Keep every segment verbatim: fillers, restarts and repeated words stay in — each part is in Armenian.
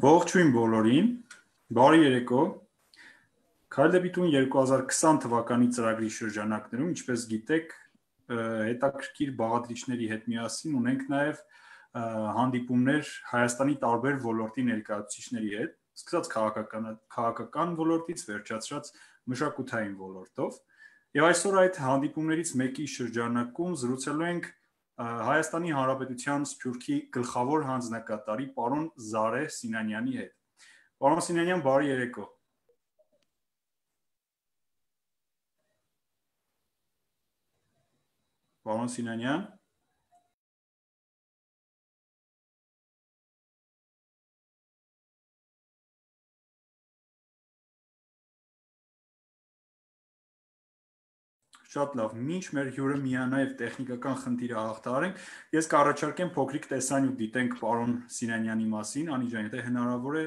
Ողջույն բոլորին, բարի երեկո, Քայլ դեպի տուն երկու հազար քսան թվականի ծրագրի շրջանակներում, ինչպես գիտեք, հետաքրքիր բաղադրիչների հետ միասին ունենք նաև հանդիպումներ Հայաստանի տարբեր ոլորտի ներկայացուցիչների հետ, սկսած քաղաքական, քաղաքական ոլորտից, վերջացրած մշակութային ոլորտով, եւ այսօր այդ հանդիպումներից մեկի շրջանակում զրուցելու ենք Հայաստանի Հանրապետության Սփյուռքի գլխավոր հանձնակատարի պարոն Զարե Սինանյանի հետ։ Պարոն Սինանյան, բարի երեկո։ Պարոն Սինանյան։ Շատ լավ, մինչ մեր հյուրը միանա եւ տեխնիկական խնդիրը հաղթահարենք, ես կառաջարկեմ փոքրիկ տեսանյութ դիտենք պարոն Սինանյանի մասին, Անի ջան, եթե հնարավոր է։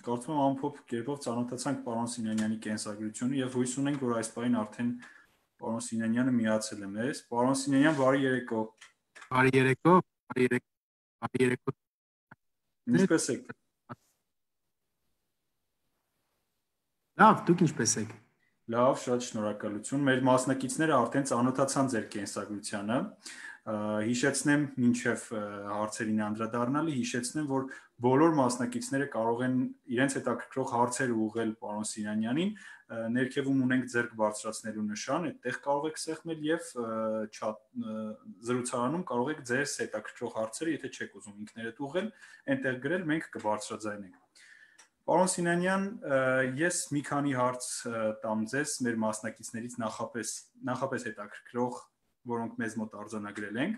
Կարծում եմ ամփոփ կերպով ծանոթացանք պարոն Սինանյանի կենսագրությունը եւ հույս ունենք, որ այս պահին արդեն պարոն Սինանյանը միացել է մեզ։ Պարոն Սինանյան, բարի երեկո։ Բարի երեկո, բարի երեկո, բարի երեկո։ Ինչպե՞ս եք։ Լավ, դուք ինչպե՞ս եք։ Լավ, շատ շնորհակալություն։ Մեր մասնակիցները արդեն ծանոթացան ձեր կենսագրությանը։ Հիշեցնեմ, մինչև հարցերին անդրադառնալը, հիշեցնեմ, որ բոլոր մասնակիցները կարող են իրենց հետաքրքրող հարցեր ուղղել պարոն Սինանյանին, ներքևում ունենք ձեռք բարձրացնելու նշան, այդտեղ կարող եք սեղմել եւ զրուցարանում կարող եք ձեր հետաքրքրող հարցերը, եթե չեք ուզում ինքներդ ուղղել, այնտեղ գրել, մենք կբարձրաձայնենք։ Պարոն Սինանյան, ես մի քանի հարց տամ ձեզ մեր մասնակիցներից նախապես նախապես հետաքրքրող, որոնք մեզ մոտ արձանագրել ենք։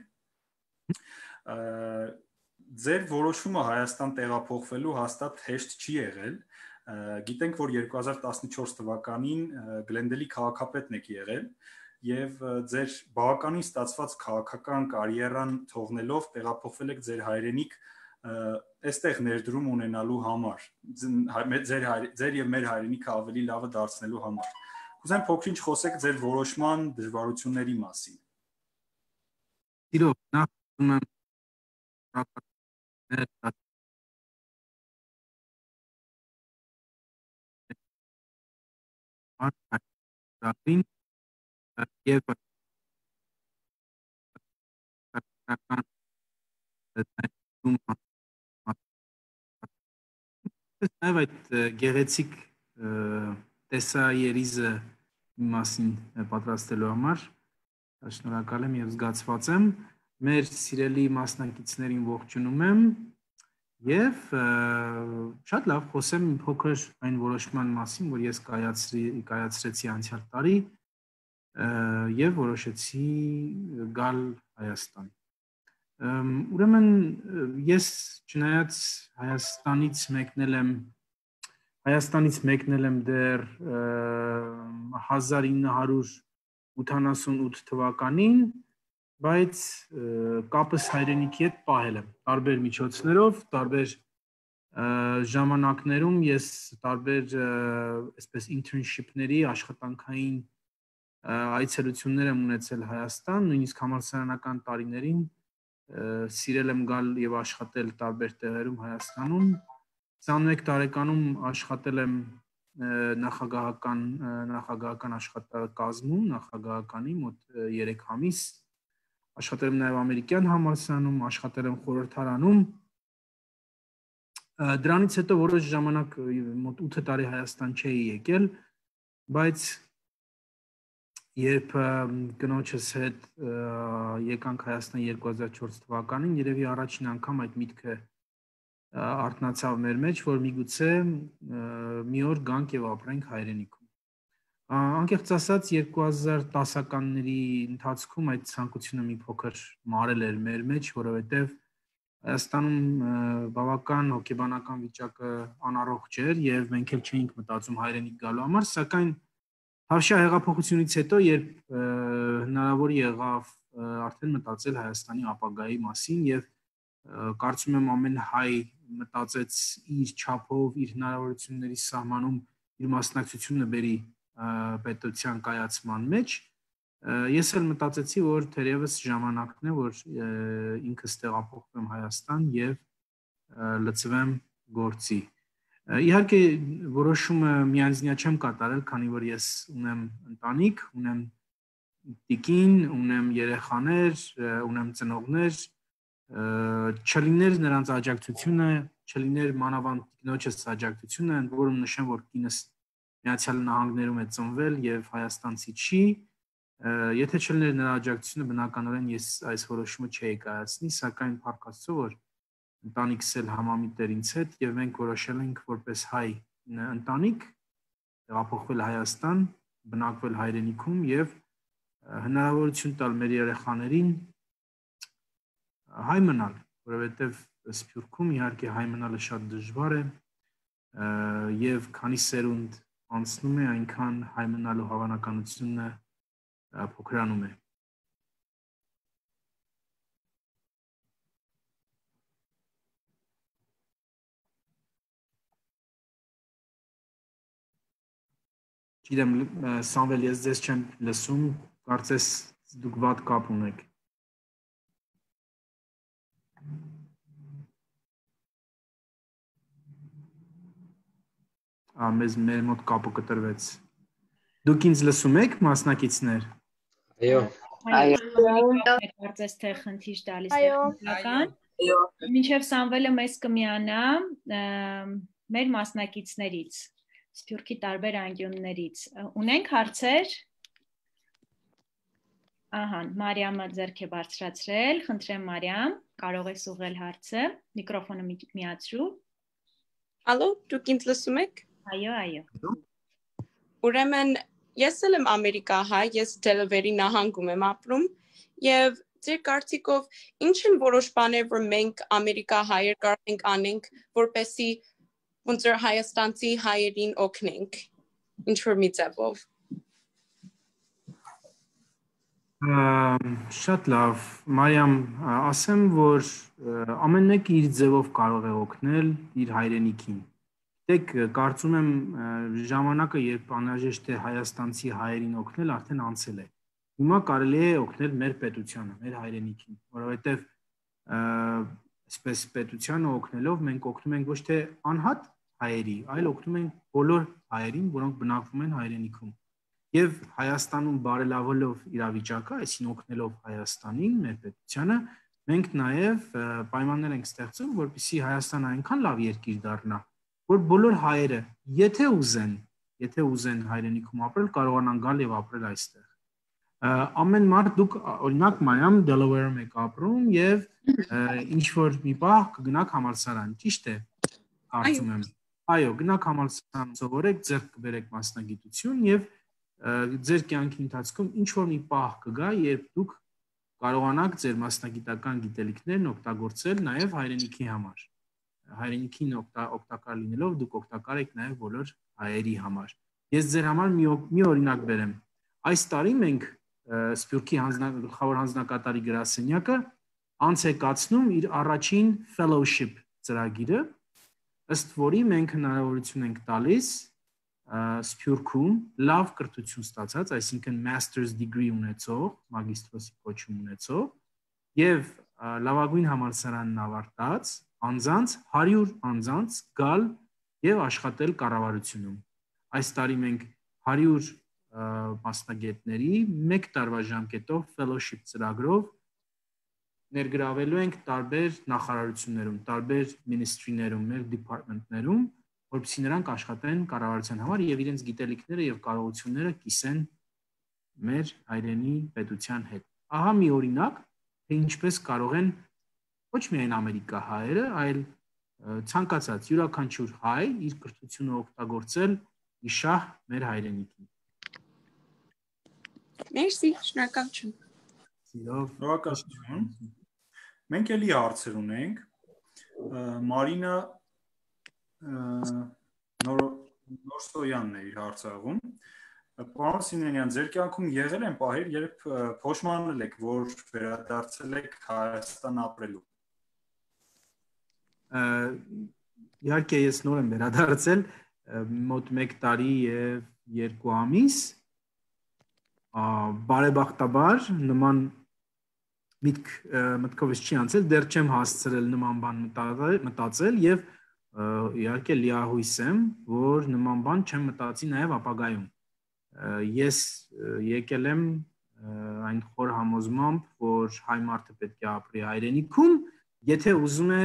Ձեր որոշումը Հայաստան տեղափոխվելու հաստատ հեշտ չի եղել։ Գիտենք, որ երկու հազար տասնչորս թվականին Գլենդելի քաղաքապետն եք եղել եւ ձեր բավականին ստացված քաղաքական կարիերան թողնելով տեղափոխվել եք ձեր հայրենիք այստեղ ներդրում ունենալու համար, ձեր ձեր եւ մեր հայրենիքը ավելի լավը դարձնելու համար։ Կուզեմ փոքր-ինչ խոսեք ձեր որոշման դժվարությունների մասին։ Իրոք, նախ ուզում եմ շնորհակալ եւ Նաև այդ գեղեցիկ տեսաերիզը մասին պատրաստելու համար շնորհակալ եմ եւ զգացված եմ։ Մեր սիրելի մասնակիցներին ողջունում եմ եւ շատ լավ խոսեմ փոքր այն որոշման մասին, որ ես կայացրի կայացրեցի անցյալ տարի եւ որոշեցի գալ Հայաստան։ Ուրեմն ես չնայած Հայաստանից մեկնել եմ Հայաստանից մեկնել եմ դեռ հազար ինը հարյուր ութանասունութ թվականին, բայց կապս հայրենիքի հետ պահել եմ տարբեր միջոցներով, տարբեր ժամանակներում ես տարբեր այսպես internship-ների աշխատանքային այցելություններ եմ ունեցել Հայաստան, նույնիսկ համալսարանական տարիներին սիրել եմ գալ եւ աշխատել տարբեր տեղերում Հայաստանում։ Քսանմեկ տարեկանում աշխատել եմ նախագահական նախագահական աշխատակազմում, նախագահականի մոտ երեք ամիս։ Աշխատել եմ նաեւ ամերիկյան համալսարանում, աշխատել եմ խորհրդարանում։ Դրանից հետո որոշ ժամանակ մոտ ութ տարի Հայաստան չէի եկել, բայց երբ կնոջս հետ եկանք Հայաստան երկու հազար չորս թվականին, երևի առաջին անգամ այդ միտքը արթնացավ մեր մեջ, որ միգուցե մի օր գանք եւ ապրենք հայրենիքում։ Անկեղծ ասած երկու հազար տասականների ընթացքում այդ ցանկությունը մի փոքր մարել էր մեր մեջ, որովհետեւ Հայաստանում բավական հոգեբանական վիճակը անառողջ էր եւ մենք էլ չէինք մտածում հայրենիք գալու համար, սակայն Հավշա հեղափոխությունից հետո, երբ հնարավոր եղավ արդեն մտածել Հայաստանի ապագայի մասին եւ կարծում եմ ամեն հայ մտածեց իր չափով, իր հնարավորությունների սահմանում իր մասնակցությունը բերի պետության կայացման մեջ, ես էլ մտածեցի, որ թերևս ժամանակն է, որ ինքս տեղափոխվեմ Հայաստան եւ լծվեմ գործի։ Իհարկե որոշումը միանձնյա չեմ կատարել, քանի որ ես ունեմ ընտանիք, ունեմ տիկին, ունեմ երեխաներ, ունեմ ծնողներ, չլիներ նրանց աջակցությունը, չլիներ մանավանդ տիկնոջս աջակցությունը, ընդ որում նշեմ, որ կինս Միացյալ Նահանգներում է ծնվել եւ հայաստանցի չի, եթե չլիներ նրա աջակցությունը, բնականորեն ես այս որոշումը չէի կայացնի, սակայն փառք Աստծո, որ ընտանիքս էլ համամիտ էր ինձ հետ եւ մենք որոշել ենք որպես հայ ընտանիք տեղափոխվել Հայաստան, բնակվել հայրենիքում եւ հնարավորություն տալ մեր երեխաներին հայ մնալ, որովհետեւ Սփյուռքում իհարկե հայ մնալը շատ դժվար է եւ քանի սերունդ անցնում է, այնքան հայ մնալու հավանականությունը փոքրանում է։ Գիտեմ, Սամվել, ես ձեզ չեմ լսում, կարծես դուք վատ կապ ունեք։ Մեզ մեր մոտ կապը կտրվեց։ Դուք ինձ լսում եք, մասնակիցներ։ Այո։ Այո։ Կարծես թե խնդիր տալիս տեխնիկական։ Մինչև Սամվելը մեզ կմիանա մեր մասնակիցներից, Սփյուռքի տարբեր անկյուններից։ Ունենք հարցեր։ Ահա, Մարիամը ձեռք է բարձրացրել, խնդրեմ Մարիամ, կարող ես ուղղել հարցը, միկրոֆոնը միացրու։ Ալո, դուք ինձ լսում եք։ Այո, այո։ Ուրեմն ես էլ եմ ամերիկահայ, ես Դելավերի նահանգում եմ ապրում եւ ձեր կարծիքով ինչ են որոշ բաներ, որ մենք ամերիկահայեր կարող ենք անենք, որպեսզի ոնց որ հայաստանցի հայերին օգնենք, ինչ որ մի ձևով։ Շատ լավ, Մարիամ, ասեմ, որ ամեն մեկը իր ձևով կարող է օգնել իր հայրենիքին։ Դեք կարծում եմ ժամանակը, երբ անհրաժեշտ է հայաստանցի հայերին օգնել, արդեն անցել է։ Հիմա կարելի է օգնել մեր պետությանը, մեր հայրենիքին, որովհետև այսպես պետությանը օգնելով մենք օգնում ենք ոչ թե անհատ հայերի, այլ օգնում ենք բոլոր հայերին, որոնք բնակվում են հայրենիքում։ Եվ Հայաստանում բարելավելով իրավիճակը, այսին օգնելով Հայաստանին, մեր պետությանը, մենք նաև պայմաններ ենք ստեղծում, որպեսզի Հայաստանը այնքան լավ երկիր դառնա, որ բոլոր հայերը, եթե ուզեն, եթե ուզեն հայրենիքում ապրել, կարողանան գալ եւ ապրել այստեղ։ Ամեն մարդ դուք օրինակ Մարիամ Դելավերում եք ապրում եւ ինչ որ մի պահ կգնաք համալսարան, ճիշտ է, կարծում եմ։ Այո, գնաք համալսարան, սովորեք, ձեռք կբերեք մասնագիտություն եւ ձեր կյանքի ընթացքում ինչ որ մի պահ կգա, երբ դուք կարողանաք ձեր մասնագիտական գիտելիքներն օգտագործել նաև հայրենիքի համար։ Հայրենիքին օգտակար լինելով դուք օգտակար եք նաև բոլոր հայերի համար։ Ես ձեր համար մի, մի օրինակ բերեմ։ Այս տարի մենք Սփյուռքի գլխավոր հանձնակատարի գրասենյակը անց է կացնում իր առաջին fellowship ծրագիրը, ըստ որի մենք հնարավորություն ենք տալիս Սփյուռքում լավ կրթություն ստացած, այսինքն master's degree ունեցող, մագիստրոսի կոչում ունեցող եւ լավագույն համալսարանն ավարտած անձանց հարյուր անձանց գալ եւ աշխատել կառավարությունում։ Այս տարի մենք հարյուր մասնագետների մեկ տարվա ժամկետով fellowship ծրագրով ներգրավելու ենք տարբեր նախարարություններում, տարբեր ministry-ներում, մեր department-ներում, որպեսզի նրանք աշխատեն կառավարության համար եւ իրենց գիտելիքները եւ կարողությունները կիսեն մեր հայրենի պետության հետ։ Ահա մի օրինակ, թե ինչպես կարող են ոչ միայն Ամերիկա հայերը, այլ ցանկացած յուրաքանչյուր հայ իր կրթությունը օգտագործել իշահ մեր հայրենիքին։ Մերսի, շնորհակալություն։ Շնորհակալություն։ Մենք էլի հարցեր ունենք։ Մարինա Նորսոյանն է իր հարցաղում։ Պարոն Սիմոնյան, ձեր կյանքում եղել են պահեր, երբ փոշմանել եք, որ վերադարձել եք Հայաստան ապրելու։ Իհարկե ես նոր եմ վերադարձել, մոտ մեկ տարի եւ երկու ամիս։ Բարեբախտաբար նման միտք մտքովս չի անցել, դեռ չեմ հասցրել նման բան մտածել եւ իհարկե լիահույս եմ, որ նման բան չեմ մտածի նաև ապագայում։ Ես եկել եմ այն խոր համոզմամբ, որ հայ մարդը պետք է ապրի հայրենիքում, եթե ուզում է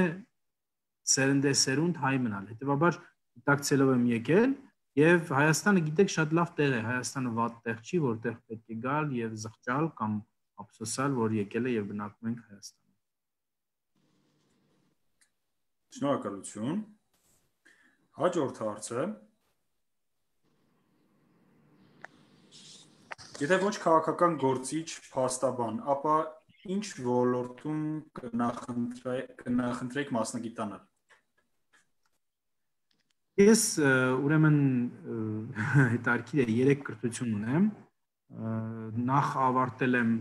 սերնդեսերունդ հայ մնալ։ Հետևաբար դիտակցելով եմ եկել եւ Հայաստանը գիտեք շատ լավ տեղ է, Հայաստանը վատ տեղ չի, որտեղ պետք է գալ եւ զղջալ կամ ափսոսալ, որ եկել է եւ բնակվում ենք Հայաստանում։ Շնորհակալություն։ Հաջորդ հարցը։ Եթե ոչ քաղաքական գործիչ, փաստաբան, ապա ինչ ոլորտում կնախընտրեք մասնագիտանալ։ Ես ուրեմն հետարքիր է երեք կրթություն ունեմ, նախ ավարտել եմ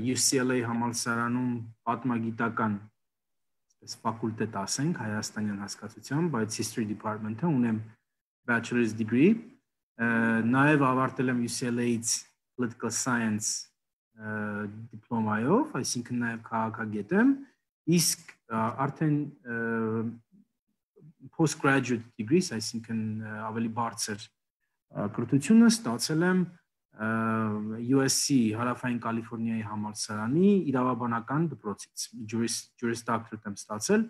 U C L A համալսարանում պատմագիտական ֆակուլտետ ասենք հայաստանյան հասկացությամբ, բայց history department-ը ունեմ bachelor's degree, նաև ավարտել եմ U C L A-ից political science դիպլոմայով, այսինքն նաև քաղաքագետ եմ, իսկ արդեն postgraduate degrees, այսինքն ավելի բարձր կրթությունը ստացել եմ U S C Հարավային Կալիֆոռնիայի համալսարանի իրավաբանական դպրոցից, Juris Doctorate եմ ստացել։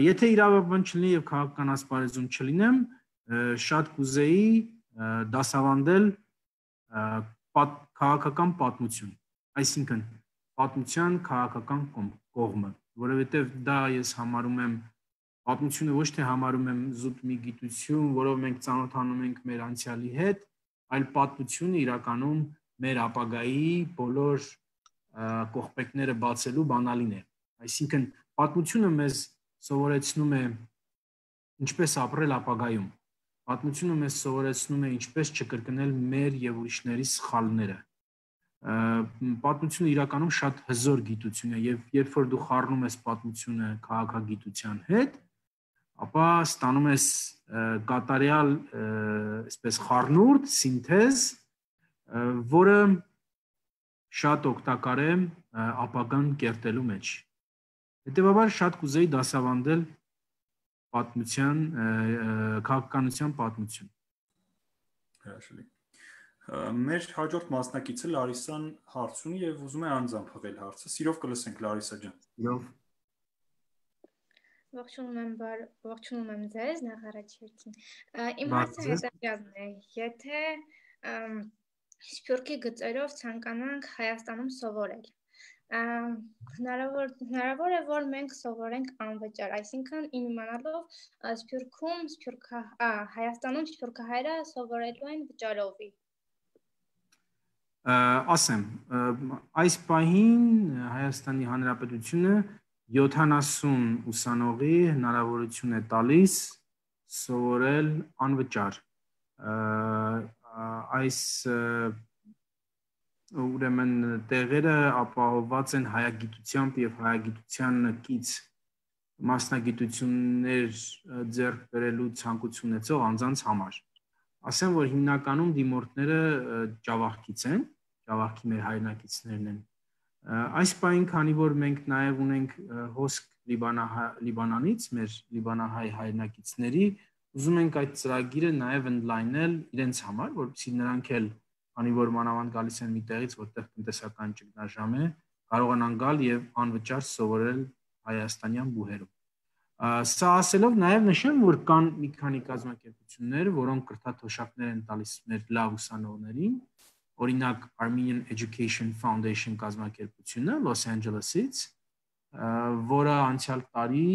Եթե իրավաբան չլինի եւ քաղաքական ասպարեզում չլինեմ, շատ կուզեի դասավանդել քաղաքական պատմություն, այսինքն պատմության քաղաքական կողմը, որովհետեւ դա ես համարում եմ պատմությունը ոչ թե համարում եմ զուտ մի գիտություն, որով մենք ծանոթանում ենք մեր անցյալի հետ, այլ պատմությունը իրականում մեր ապագայի բոլոր կողպեքները բացելու բանալին է։ Այսինքն պատմությունը մեզ սովորեցնում է ինչպես ապրել ապագայում։ Պատմությունը մեզ սովորեցնում է ինչպես չկրկնել մեր եւ ուրիշների սխալները։ պատմությունը իրականում շատ հզոր գիտություն է եւ երբ որ դու խառնում ես պատմությունը քաղաքագիտության հետ, ապա ստանում ես կատարյալ, այսպես խառնուրդ, սինթեզ, որը շատ օգտակար է ապագան կերտելու մեջ։ Հետևաբար շատ կուզեի դասավանդել պատմության, քաղաքականության պատմություն։ Հրաշալի։ Մեր հաջորդ մասնակիցը Լարիսան հարց ունի եւ ուզում է անձամբ հղել հարցը։ Սիրով կլսենք Լարիսա ջան։ Սիրով։ Ողջունում եմ, ողջունում եմ ձեզ, նախ առաջերտին։ Իմ հարցը հետևյալն է. Եթե Սփյուռքի գծերով ցանկանանք Հայաստանում սովորել, հնարավոր հնարավոր է որ մենք սովորենք անվճար, այսինքն իմանալով Սփյուռքում, Սփյուռքա, Հայաստանում Սփյուռքահայերը սովորելու են վճարովի։ Ասեմ, այս պահին Հայաստանի Հանրապետությունը յոթանասուն ուսանողի հնարավորություն է տալիս սովորել անվճար։ Այս ուրեմն տեղերը ապահովված են հայագիտությամբ եւ հայագիտության կից մասնագիտություններ ձեռք բերելու ցանկություն ունեցող անձանց համար։ Ասեմ, որ հիմնականում դիմորդները Ջավախքից են, Ջավախքի մեր հայրենակիցներն են։ Այս պահին, քանի որ մենք նաեւ ունենք հոսք Լիբանանից, մեր լիբանահայ հայրենակիցների, ուզում ենք այդ ծրագիրը նաեւ ընդլայնել իրենց համար, որպեսզի նրանք էլ Քանի որ մանավանդ գալիս են մի տեղից, որտեղ տնտեսական ճգնաժամ է, կարողանան գալ եւ անվճար սովորել հայաստանյան բուհերում։ Սա ասելով նաեւ նշեմ, որ կան մի քանի կազմակերպություններ, որոնք կրթաթոշակներ են տալիս մեր լավ ուսանողներին, օրինակ Armenian Education Foundation կազմակերպությունը Los Angeles-ից, որը անցյալ տարի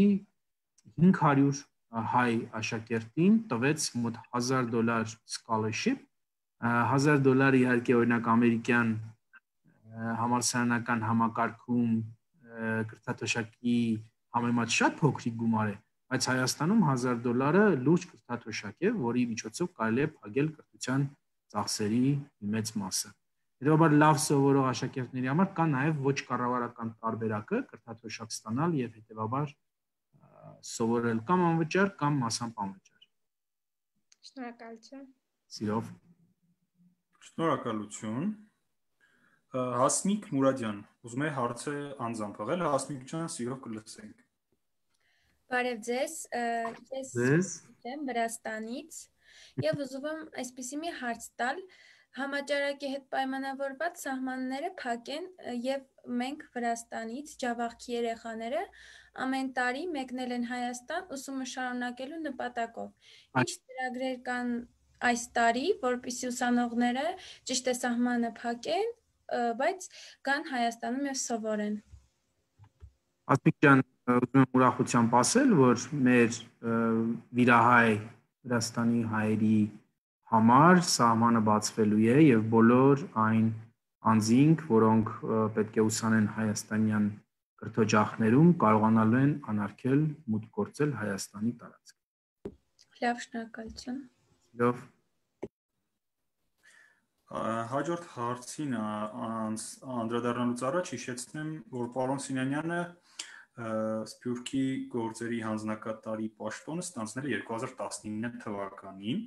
հինգ հարյուր հայ աշակերտին տվեց մոտ հազար դոլար scholarship, հազար դոլար իհարկե օրինակ ամերիկյան համալսարանական համակարգում կրթաթոշակի համեմատ շատ փոքրիկ գումար է, բայց Հայաստանում հազար դոլարը լուրջ կրթաթոշակ է, որի միջոցով կարելի է փակել կրթության ծախսերի մեծ մասը։ Հետևաբար լավ սովորող աշակերտների համար կա նաև ոչ կառավարական տարբերակը կրթաթոշակ ստանալ եւ հետևաբար սովորել կամ անվճար կամ մասամբ անվճար։ Շնորհակալություն։ Սիրով։ Շնորհակալություն։ Հասմիկ Մուրադյան, ուզում է հարցը անձամբ հղել, Հասմիկ ջան, սիրով կլսենք։ Բարև ձեզ, ես եմ Վրաստանից եւ ուզում եմ այսպիսի մի հարց տալ, համաճարակի հետ պայմանավորված սահմանները փակեն եւ մենք Վրաստանից Ջավախքի երեխաները ամեն տարի մեկնել են Հայաստան ուսումը շարունակելու նպատակով։ Ինչ ծրագրեր կան այս տարի, որպեսզի ուսանողները ճիշտ է սահմանը փակեն, բայց գան Հայաստանում եւ սովորեն։ Ասմիկ ջան, ուզում եմ ուրախությամբ ասել, որ մեր վիրահայ Վրաստանի հայերի համար սահմանը բացվելու է եւ բոլոր այն անձինք, որոնք պետք է ուսանեն հայաստանյան կրթօջախներում, կարողանալու են անարգել մուտք գործել Հայաստանի տարածք։ Լավ, շնորհակալություն։ Լավ։ Հաջորդ հարցին անդրադառնալուց առաջ հիշեցնեմ, որ պարոն Սինյանյանը Սփյուռքի գործերի հանձնակատարի պաշտոնը ստանձնել է երկու հազար տասնինը թվականին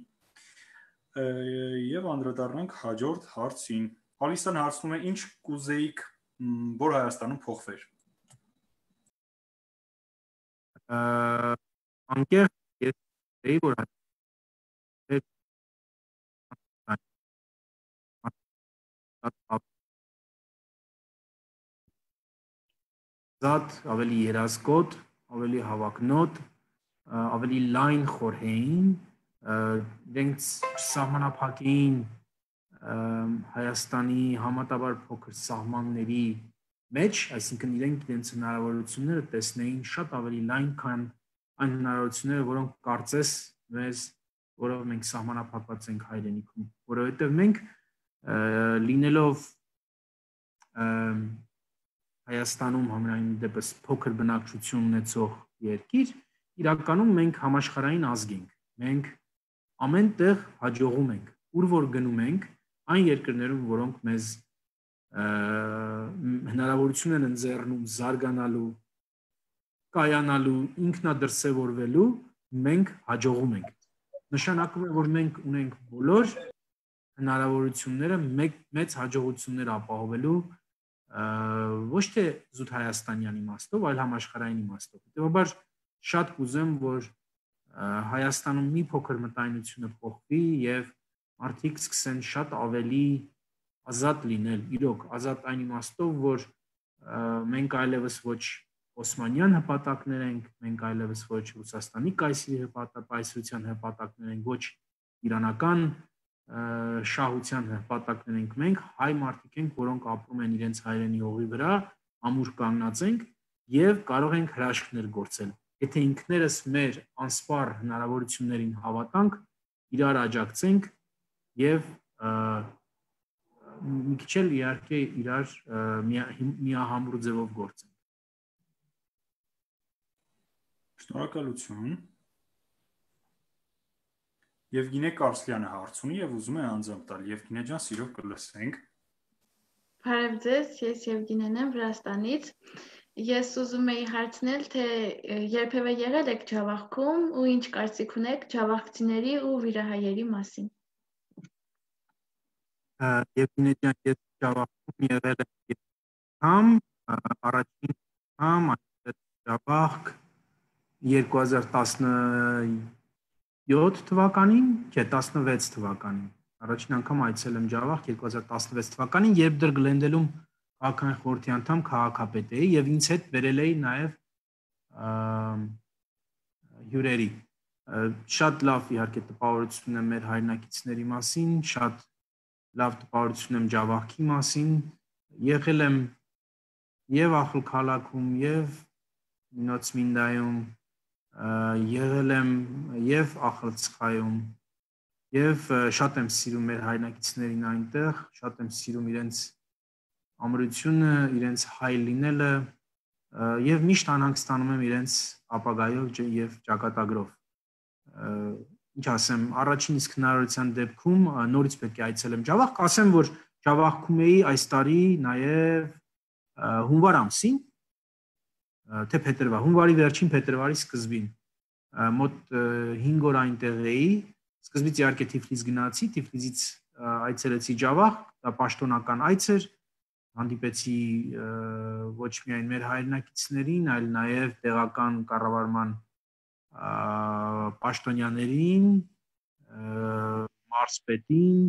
եւ անդրադառնանք հաջորդ հարցին։ Ալիսան հարցնում է, ինչ կուզեիք, որ Հայաստանում փոխվեր։ Անկեղծ ես կուզեի, որ Զատ ավելի երազկոտ, ավելի հավակնոտ, ավելի լայն խորհեին, իրենք սահմանափակեին Հայաստանի համատաբար փոքր սահմանների մեջ, այսինքն իրենք իրենց հնարավորությունները տեսնեին շատ ավելի լայն, քան այն հնարավորությունները, որոնք կարծես մեզ, որով մենք սահմանափակված ենք հայրենիքում, որովհետև մենք լինելով Հայաստանում համենայն դեպս փոքր բնակչություն ունեցող երկիր, իրականում մենք համաշխարհային ազգ ենք։ Մենք ամեն տեղ հաջողում ենք, ուր որ գնում ենք, այն երկրներում, որոնք մեզ հնարավորություն են ընձեռնում զարգանալու, կայանալու, ինքնադրսևորվելու, մենք հաջողում ենք։ Նշանակում է, որ մենք ունենք բոլոր հնարավորությունները մեծ հաջողություններ ապահովելու ոչ թե զուտ հայաստանյան իմաստով, այլ համաշխարհային իմաստով։ Հետևաբար շատ կուզեմ, որ Հայաստանում մի փոքր մտայնությունը փոխվի եւ մարդիկ սկսեն շատ ավելի ազատ լինել, իրոք ազատ այն իմաստով, որ մենք այլևս ոչ օսմանյան հպատակներ ենք, մենք այլևս ոչ Ռուսաստանի կայսրի հպատակության հպատակներ ենք, ոչ իրանական շահության հպատակներ ենք, մենք հայ մարդիկ ենք, որոնք ապրում են իրենց հայրենի հողի վրա, ամուր կանգնած ենք եւ կարող ենք հրաշքներ գործել։ Եթե ինքներս մեր անսպառ հնարավորություններին հավատանք, իրար աջակցենք եւ մի քիչ էլ իհարկե իրար միահամուռ ձևով գործենք։ Շնորհակալություն։ Եվգենիա Կարսլյանը հարց ունի եւ ուզում է անձամբ տալ։ Եվգենիա ջան, սիրով կլսենք։ Բարև ձեզ, ես Եվգենիան եմ Վրաստանից։ Ես ուզում եի հարցնել, թե երբևէ եղել եք Ջավախքում ու ինչ կարծիք ունեք ջավախցիների ու վիրահայերի մասին։ Եվգենիա ջան, ես Ջավախքում եղել եմ առաջին անգամ Ջավախք երկու հազար տասնյոթ թվականին, չէ, տասնվեց թվականին։ Առաջին անգամ այցել եմ Ջավախ երկու հազար տասնվեց թվականին, երբ դեռ Գլենդելում քաղաքային խորհրդի անդամ քաղաքապետ էի եւ ինձ հետ բերել էի նաեւ հյուրերի։ Շատ լավ իհարկե տպավորություն ունեմ մեր հայրենակիցների մասին, շատ լավ տպավորություն ունեմ Ջավախքի մասին, եղել եմ եւ Ախալքալաքում եւ Նոցմինդայում, եղել եմ եւ Ախալցխայում եւ շատ եմ սիրում մեր հայրենակիցներին այնտեղ, շատ եմ սիրում իրենց ամրությունը, իրենց հայ լինելը եւ միշտ անհանգստանում եմ իրենց ապագայով եւ ճակատագրով։ Ինչ ասեմ, առաջին իսկ հնարավորության դեպքում նորից պետք է այցելեմ Ջավախք, ասեմ, որ Ջավախքում էի այս տարի նաեւ հունվար ամսին, թե փետրվար, հունվարի վերջին փետրվարի սկզբին, մոտ հինգ օր այնտեղ էի, սկզբից իհարկե Թիֆլիս գնացի, Թիֆլիսից այցելեցի Ջավախ, դա պաշտոնական այց էր, հանդիպեցի ոչ միայն մեր հայրենակիցներին, այլ նաև տեղական կառավարման պաշտոնյաներին, մարզպետին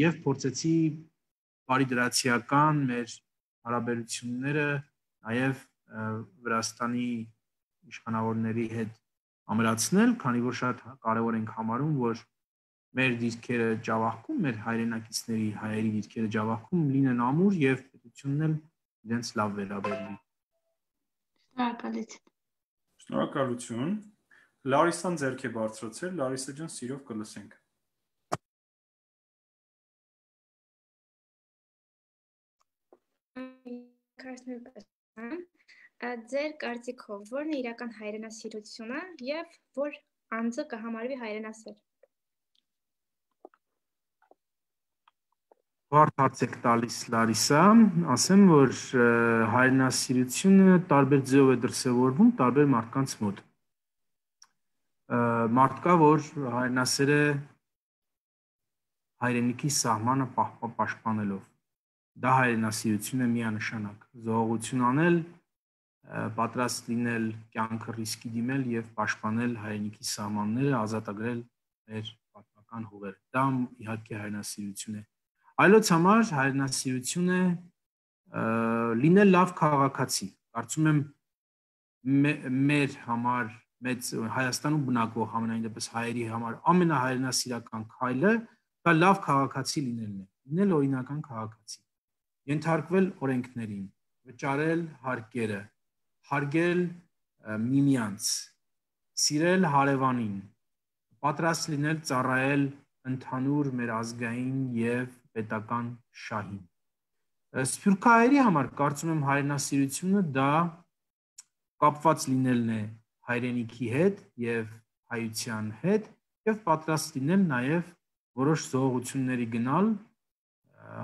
եւ փորձեցի բարիդրացիական մեր հարաբերությունները նաև Վրաստանի իշխանավորների հետ ամրացնել, քանի որ շատ կարևոր ենք համարում, որ մեր դիրքերը Ջավախքում, մեր հայրենակիցների հայերի դիրքերը Ջավախքում լինեն ամուր եւ պետությունն էլ իրենց լավ վերաբերվի։ Շնորհակալություն։ Շնորհակալություն։ Լարիսան ձեռք է բարձրացրել, Լարիսա ջան, սիրով կլսենք։ Ձեր կարծիքով ո՞րն է իրական հայրենասիրությունը եւ որ անձը կհամարվի հայրենասեր։ Բարդ հարց եք տալիս Լարիսա, ասեմ, որ հայրենասիրությունը տարբեր ձևով է դրսևորվում տարբեր մարդկանց մոտ։ Մարդ կա, որ հայրենասեր է հայրենիքի սահմանը պաշտպանելով։ Դա հայրենասիրություն է միանշանակ։ Զոհողություն անել, պատրաստ լինել կյանքը ռիսկի դիմել եւ պաշտպանել հայրենիքի սահմանները, ազատագրել մեր պատմական հողերը։ Դա իհարկե հայրենասիրություն է։ Այլոց համար հայրենասիրություն է լինել լավ քաղաքացի։ Կարծում եմ մեր համար, մեծ Հայաստանում բնակվող համենայն դեպս հայերի համար ամենահայրենասիրական քայլը դա լավ քաղաքացի լինելն է, լինել օրինական քաղաքացի, ենթարկվել օրենքներին, վճարել հարկերը, հարգել միմյանց, սիրել հարևանին, պատրաստ լինել ծառայել ընդհանուր մեր ազգային եւ պետական շահին։ Սփյուռքահայերի համար կարծում եմ հայրենասիրությունը դա կապված լինելն է հայրենիքի հետ եւ հայության հետ եւ պատրաստ լինել նաեւ որոշ զոհությունների գնալ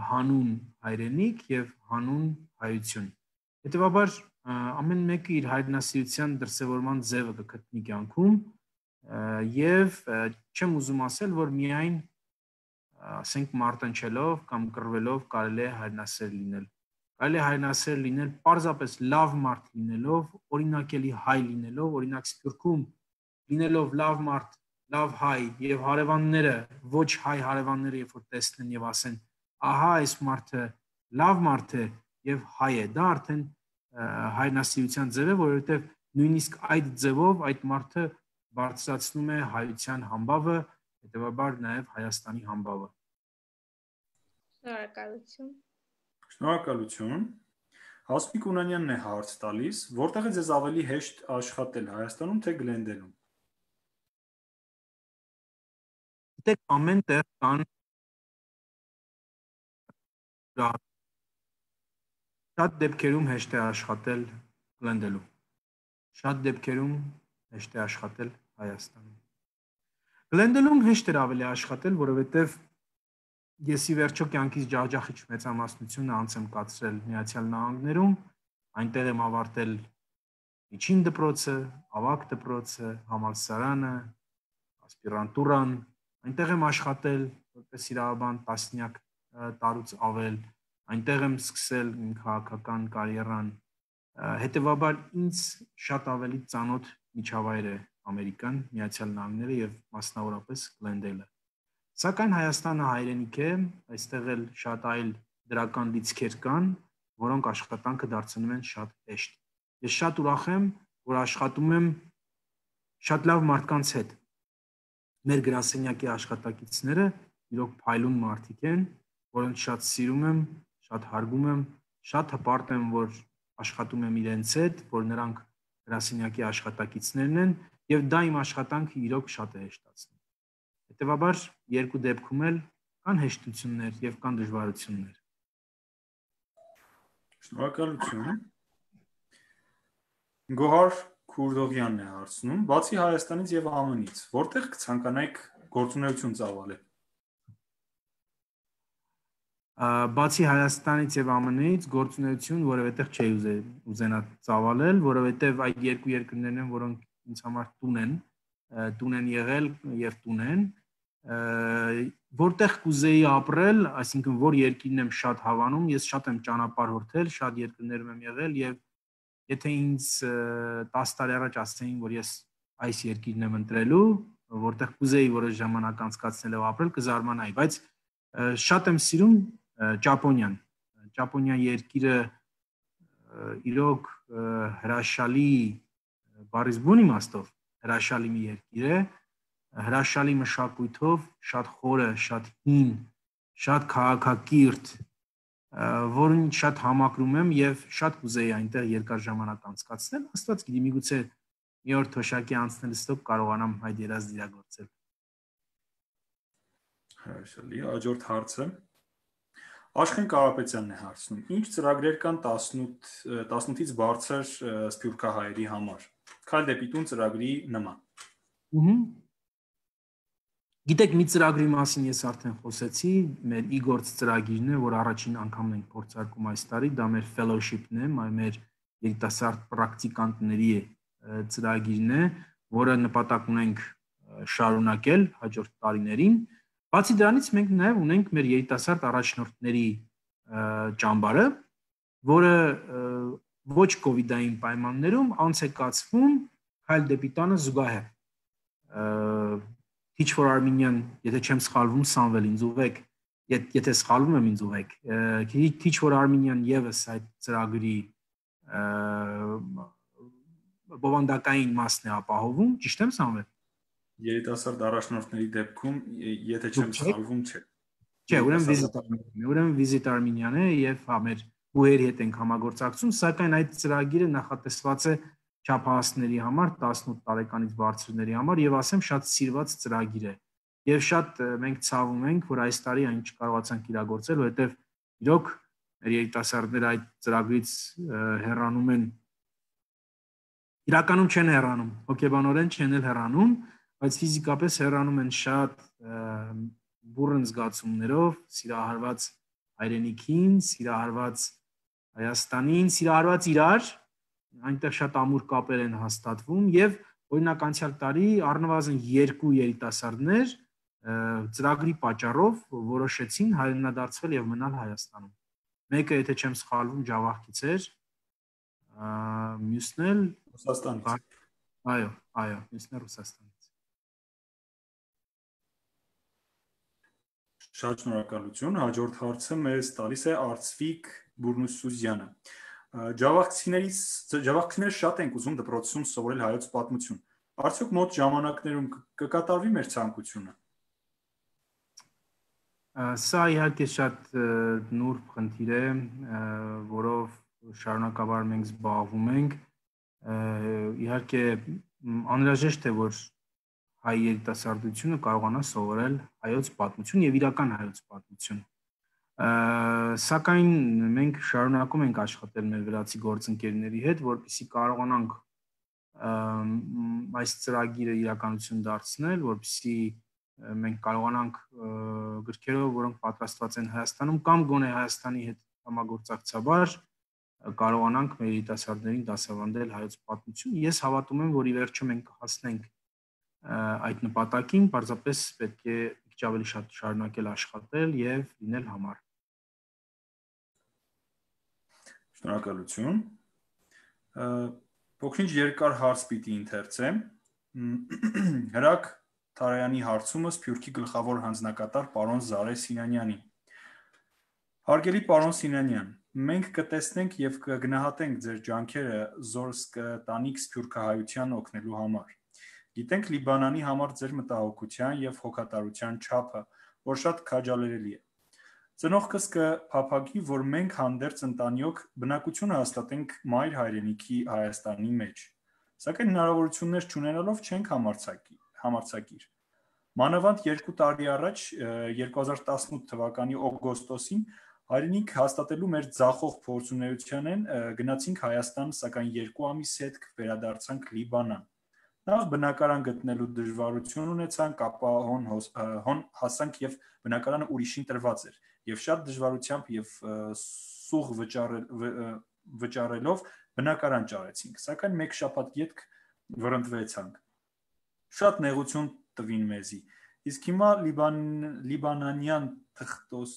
հանուն հայրենիք եւ հանուն հայություն։ Հետևաբար ամեն մեկը իր հայրենասիրության դրսևորման ձևը կգտնի կյանքում եւ չեմ ուզում ասել, որ միայն ասենք մարտնչելով կամ կռվելով կարելի է հայրենասեր լինել։ Կարելի է հայրենասեր լինել պարզապես լավ մարդ լինելով, օրինակելի հայ լինելով, օրինակ Սփյուռքում լինելով լավ մարդ, լավ հայ եւ հարևանները, ոչ հայ հարևանները երբ որ տեսնեն եւ ասեն, ահա այս մարդը լավ մարդ է եւ հայ է, դա արդեն հայրենասիրության ձև է, որովհետեւ նույնիսկ այդ ձևով այդ մարդը բարձրացնում է հայության համբավը, հետեւաբար նաեւ Հայաստանի համբավը։ Շնորհակալություն։ Շնորհակալություն։ Հասմիկ Ունանյանն է հարց տալիս, որտեղ է ձեզ ավելի հեշտ աշխատել, Հայաստանում թե Գլենդենում։ Դեք ամեն տեղ կան շատ դեպքերում հեշտ է աշխատել Գլենդելում։ Շատ դեպքերում հեշտ է աշխատել Հայաստանում։ Գլենդելում հեշտ էր ավելի աշխատել, որովհետև ես ի վերջո կյանքից ջախջախիչ մեծամասնությունը անց եմ կացրել Միացյալ Նահանգներում, այնտեղ եմ ավարտել միջին դպրոցը, ավագ դպրոցը, համալսարանը, ասպիրանտուրան, այնտեղ եմ աշխատել որպես իրավաբան տասնյակ տարուց ավել, այնտեղ եմ սկսել իմ քաղաքական կարիերան, հետևաբար ինձ շատ ավելի ծանոթ միջավայր է Ամերիկան, Միացյալ Նահանգները եւ մասնավորապես Գլենդելը։ Սակայն Հայաստանը հայրենիք է, այստեղ էլ շատ այլ դրական լիցքեր կան, որոնք աշխատանքը դարձնում են շատ հեշտ։ Ես շատ ուրախ եմ, որ աշխատում եմ շատ լավ մարդկանց հետ։ Մեր գրասենյակի աշխատակիցները իրոք փայլուն մարդիկ են, որոնց շատ սիրում եմ, շատ հարգում եմ, շատ հպարտ եմ, որ աշխատում եմ իրենց հետ, որ նրանք գրասենյակի աշխատակիցներն են եւ դա իմ աշխատանքը իրոք շատ է հեշտացնում։ Հետևաբար երկու դեպքում էլ կան հեշտություններ եւ կան դժվարություններ։ Շնորհակալություն։ Գոհար Քուրդողյանն է հարցնում, բացի Հայաստանից եւ Α Մ-ից, որտեղ կցանկանայիք գործունեություն ծավալել։ Բացի Հայաստանից եւ Α Մ-ից գործունեություն որևէտեղ չի ուզենա ծավալել, որովհետեւ այդ երկու երկրներն են, որոնք ինձ համար տուն են, տուն են եղել եւ տուն են, որտեղ կուզեի ապրել, այսինքն որ երկիրն եմ շատ հավանում, ես շատ եմ ճանապարհորդել, շատ երկրներում եմ եղել եւ եթե ինձ տասը տարի առաջ ասեին, որ ես այս երկիրն եմ ընտրելու, որտեղ կուզեի որոշ ժամանակ անցկացնել եւ ապրել, կզարմանայի, բայց շատ եմ սիրում Ճապոնիան։ Ճապոնիա երկիրը իրոք հրաշալի բառից բուն իմաստով հրաշալի մի երկիր է, հրաշալի մշակույթով, շատ խորը, շատ հին, շատ քաղաքակիրթ, որին շատ համակրում եմ եւ շատ կուզեի այնտեղ երկար ժամանակ անցկացնել, աստված գիտի, միգուցե մի օր թոշակի անցնելուց հետո կարողանամ այդ երազը իրագործել։ Հրաշալի, հաջորդ հարցը Աշխեն Կարապետյանն է հարցնում. Ինչ ծրագրեր կան տասնութից բարձր սփյուռքահայերի համար։ Քայլ դեպի տուն ծրագրի նման։ Ուհ։ Գիտեք, մի ծրագրի մասին ես արդեն խոսեցի, մեր Իգործ ծրագիրն է, որ առաջին անգամն ենք փորձարկում այս տարի, դա մեր fellowship-ն է, մեր երիտասարդ պրակտիկանտների ծրագիրն է, որը նպատակ ունենք շարունակել հաջորդ տարիներին։ Բացի դրանից մենք նաև ունենք մեր երիտասարդ առաջնորդների ճամբարը, որը ոչ կովիդային պայմաններում անց է կացվում Քայլ դեպի տանը զուգահեռ։ Teach for Armenian, եթե չեմ սխալվում, Սամվել ինձ ուղեք, եթե սխալվում եմ ինձ ուղեք։ Teach for Armenian եւս այդ ծրագրի բովանդակային մասն է ապահովում, ճիշտ եմ Սամվել։ Երիտասարդ առաջնորդների դեպքում, եթե չեմ սխալվում, չէ։ Չէ, ուրեմն Visit Armenian, ուրեմն Visit Armenian է եւ հա մեր բուհերի հետ ենք համագործակցում, սակայն այդ ծրագիրը նախատեսված է չափահասների համար, տասնութ տարեկանից բարձրների համար եւ ասեմ շատ սիրված ծրագիր է։ Եվ շատ մենք ցավում ենք, որ այս տարի այն չկարողացանք իրագործել, որովհետեւ իրոք մեր երիտասարդները այդ ծրագրից հեռանում են։ Իրականում չեն հեռանում, հոգեբանորեն չեն էլ հեռանում, բայց ֆիզիկապես հեռանում են շատ բուրըն զգացումներով, սիրահարված հայրենիքին, սիրահարված Հայաստանին, սիրահարված իրար, այնտեղ շատ ամուր կապեր են հաստատվում եւ օրինակ անցյալ տարի առնվազն երկու երիտասարդներ ծրագրի պատճառով որոշեցին հայրենադարձվել եւ մնալ Հայաստանում։ Մեկը, եթե չեմ սխալվում, Ջավախքից էր, մյուսն էլ Ռուսաստանից։ Այո, այո, մյուսն էլ Ռուսաստանից։ Շատ շնորհակալություն։ Հաջորդ հարցը մեզ տալիս է Արծվիկ Բուրնուսուզյանը։ Ջավախքցիներից ջավախքցիները շատ են ուզում դպրոցում սովորել հայոց պատմություն։ Արդյոք մոտ ժամանակներում կկատարվի մեր ցանկությունը։ Սա իհարկե շատ նուրբ խնդիր է, որով շարունակաբար մենք զբաղվում ենք։ Իհարկե անհրաժեշտ է, որ հայ երիտասարդությունը կարողանա սովորել հայոց պատմություն եւ իրական հայոց պատմություն։ Սակայն մենք շարունակում ենք աշխատել մեր վրացի գործընկերների հետ, որպեսզի կարողանանք այս ծրագիրը իրականություն դարձնել, որպեսզի մենք կարողանանք գրքերով, որոնք պատրաստված են Հայաստանում կամ գոնե Հայաստանի հետ համագործակցաբար կարողանանք մեր երիտասարդներին դասավանդել հայոց պատմություն։ Ես հավատում եմ, որ ի վերջո մենք կհասնենք այդ նպատակին, պարզապես պետք է քիչ ավելի շատ շարունակել աշխատել եւ լինել համար։ Շնորհակալություն։ Փոքրինչ երկար հարց պիտի ընթերցեմ։ Հրակ Թարայանի հարցումը Սփյուռքի գլխավոր հանձնակատար պարոն Զարե Սինանյանին։ Հարգելի պարոն Սինանյան, մենք կտեսնենք եւ կգնահատենք ձեր ջանքերը զորս կտանիք սփյուռքահայության օգնելու համար։ Գիտենք Լիբանանի համար ձեր մտահոգության եւ հոգատարության չափը, որ շատ քաջալերելի է։ Ծնողքս կփափագի, որ մենք հանդերձ ընտանիոք բնակությունը հաստատենք մայր հայրենիքի Հայաստանի մեջ։ Սակայն հնարավորություններ չունենալով չենք համարձակիր։ Մանավանդ երկու տարի առաջ երկու հազար տասնութ թվականի օգոստոսին հայրենիք հաստատելու մեր ձախող փորձունեությանեն գնացինք Հայաստան, սակայն երկու ամիս հետք վերադարձանք Լիբանան։ Նախ բնակարան գտնելու դժվարություն ունեցանք, ապա հոն, հոն հասանք եւ բնակարանը ուրիշին տրված էր եւ շատ դժվարությամբ եւ սուղ վճարելով բնակարան ճարեցինք, սակայն մեկ շաբաթ ետք վրընդվեցանք։ Շատ նեղություն տվին մեզի։ Իսկ հիմա Լիբան, լիբանանյան թղթոս,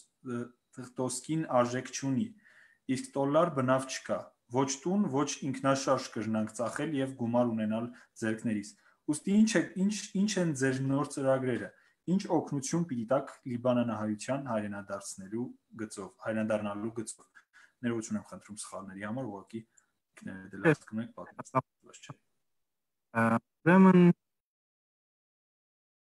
թղթոսկին արժեք չունի, իսկ դոլար բնավ չկա։ Ոչ տուն, ոչ ինքնաշարժ կրնանք ծախել եւ գումար ունենալ ձեռքներիս։ Ուստի ինչ է, ինչ, ինչ են ձեր նոր ծրագրերը, ինչ օգնություն պիտի տաք լիբանանահայության հայրենադարձնելու գծով, հայրենադառնալու գծով։ Ներողություն եմ խնդրում սխալների համար, ուղղակի ինքներդ էլ հասկանում եք պատմած չէ։ Ուրեմն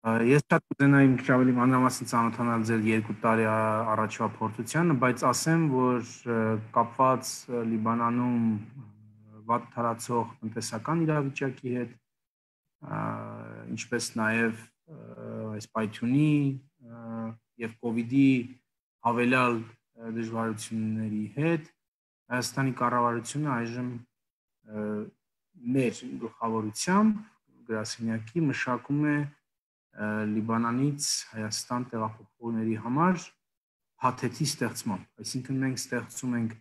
ես շատ կուզենայի մի քիչ ավելի մանրամասն ծանոթանալ ձեր երկու տարի առաջվա փորձությանը, բայց ասեմ, որ կապված Լիբանանում վատ թարացող տնտեսական իրավիճակի հետ, ինչպես նաև այս պայթյունի եւ կոവിഡ്ի հավելյալ դժվարությունների հետ, Հայաստանի կառավարությունը այժմ մեր գլխավորությամբ գրասենյակի մշակում է Լիբանանից Հայաստան տեղափոխողների համար փաթեթի ստեղծման, այսինքն մենք ստեղծում ենք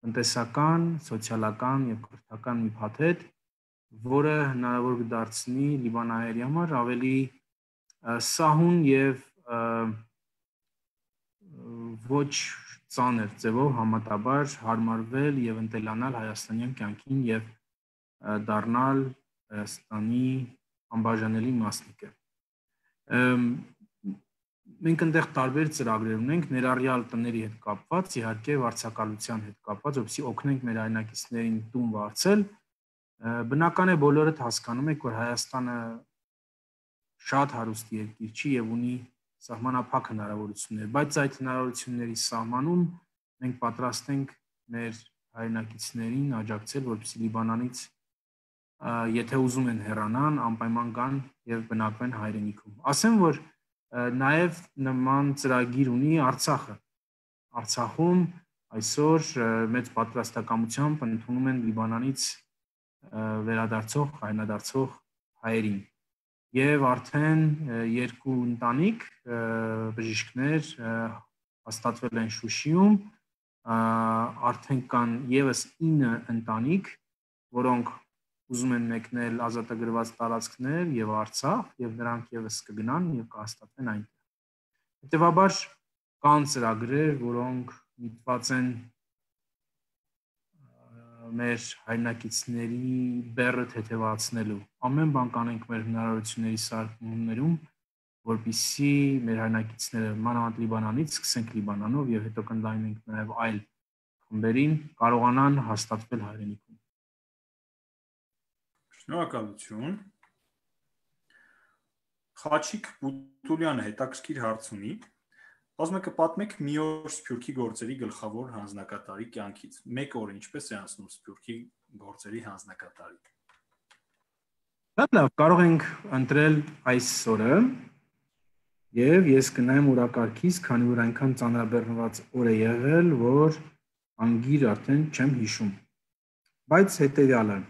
տնտեսական, սոցիալական եւ կրթական մի փաթեթ, որը հնարավոր կդարձնի լիբանահայերի համար ավելի սահուն եւ ոչ ծանր ձևով համատաբար հարմարվել եւ ընտելանալ հայաստանյան կյանքին եւ դառնալ Հայաստանի անբաժանելի մասնիկը։ Մենք այնտեղ տարբեր ծրագրեր ունենք, ներառյալ տների հետ կապված, իհարկե վարձակալության հետ կապված, որպեսզի օգնենք մեր հայրենակիցներին տուն վարձել։ Բնական է բոլորդ հասկանում եք, որ Հայաստանը շատ հարուստ երկիր չի եւ ունի սահմանափակ հնարավորություններ, բայց այդ հնարավորությունների սահմանում մենք պատրաստ ենք մեր հայրենակիցներին աջակցել, որպեսզի Լիբանանից եթե ուզում են հեռանան, անպայման գան եւ բնակվեն հայրենիքում։ Ասեմ, որ նաեւ նման ծրագիր ունի Արցախը։ Արցախում այսօր մեծ պատրաստակամությամբ ընդունում են Լիբանանից վերադարձող, հայրենադարձող հայերին։ Եվ արդեն երկու ընտանիք բժիշկներ հաստատվել են Շուշիում, արդեն կան եւս ինը ընտանիք, որոնք ուզում են մեկնել ազատագրված տարածքներ եւ Արցախ եւ նրանք եւս կգնան եւ կհաստատվեն այնտեղ։ Հետևաբար կան ծրագրեր, որոնք միտված են մեր հայրենակիցների բեռը թեթևացնելու։ Ամեն բան կանենք մեր հնարավորությունների սահմաններում, որպեսզի մեր հայրենակիցները մանավանդ Լիբանանից, սկսենք Լիբանանով եւ հետո կընդլայնենք նաեւ այլ խմբերին, կարողանան հաստատվել հայրենիքում։ Շնորհակալություն։ Խաչիկ Բուտուլյանը հետաքրքիր հարց ունի։ Ասում եք պատմեք մի օր Սփյուռքի գործերի գլխավոր հանձնակատարի կյանքից։ Մեկ օր ինչպես է անցնում Սփյուռքի գործերի հանձնակատարի։ Լավ, կարող ենք ընտրել այս օրը եւ ես կնայեմ օրակարգից, քանի որ այնքան ծանրաբեռնված օր է եղել, որ անգիր արդեն չեմ հիշում։ Բայց հետեւյալը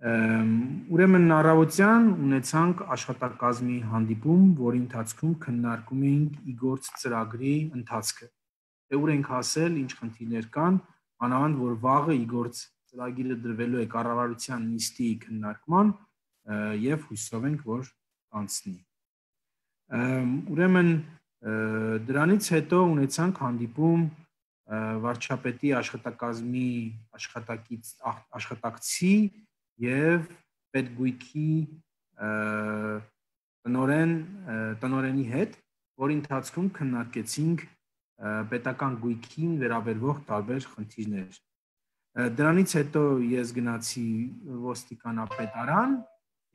Ուրեմն առավոտյան ունեցանք աշխատակազմի հանդիպում, որի ընթացքում քննարկում էինք իգործ ծրագրի ընթացքը։ Դե ուր ենք հասել, ինչ խնդիրներ կան, մանավանդ որ վաղը իգործ ծրագիրը դրվելու է կառավարության նիստի քննարկման եւ հույսով ենք, որ կանցնի։ Ուրեմն դրանից հետո ունեցանք հանդիպում վարչապետի աշխատակազմի աշխատակից աշխատակցի եւ պետգույքի տնօրեն տնօրենի հետ, որի ընթացքում քննարկեցինք պետական գույքին վերաբերող տարբեր խնդիրներ։ Դրանից հետո ես գնացի ոստիկանապետարան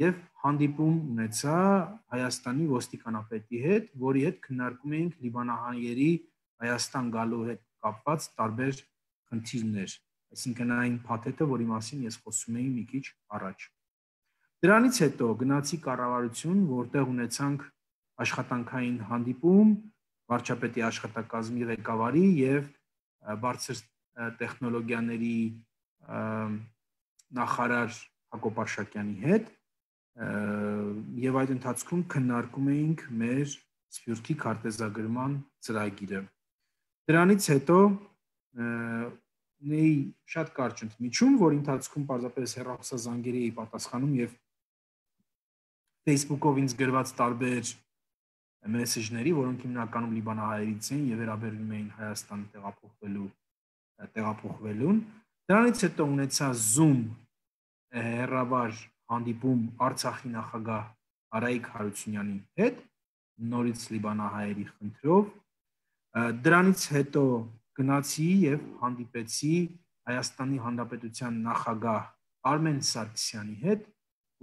եւ հանդիպում ունեցա Հայաստանի ոստիկանապետի հետ, որի հետ քննարկում էինք լիբանանահայերի Հայաստան գալու հետ կապված տարբեր խնդիրներ, այսինքն այն փաթեթը, որի մասին ես խոսում էի մի քիչ առաջ։ Դրանից հետո գնացի կառավարություն, որտեղ ունեցանք աշխատանքային հանդիպում վարչապետի աշխատակազմի ղեկավարի եւ բարձր տեխնոլոգիաների նախարար Հակոբ Արշակյանի հետ եւ այդ ընթացքում քննարկում էինք մեր Սփյուռքի քարտեզագրման ծրագիրը։ Դրանից հետո ունեի շատ կարճ ընդմիջում, որի ընթացքում պարզապես հեռախոսազանգերի էի պատասխանում եւ Facebook-ով ինձ գրված տարբեր մեսեջների, որոնք հիմնականում լիբանանահայերից էին եւ վերաբերվում էին Հայաստան տեղափոխվելու տեղափոխվելուն։ Դրանից հետո ունեցա Zoom հեռավար հանդիպում Արցախի նախագահ Արայիկ Հարությունյանի հետ, նորից լիբանանահայերի խնդրով։ Դրանից հետո գնացի եւ հանդիպեցի Հայաստանի Հանրապետության նախագահ Արմեն Սարգսյանի հետ,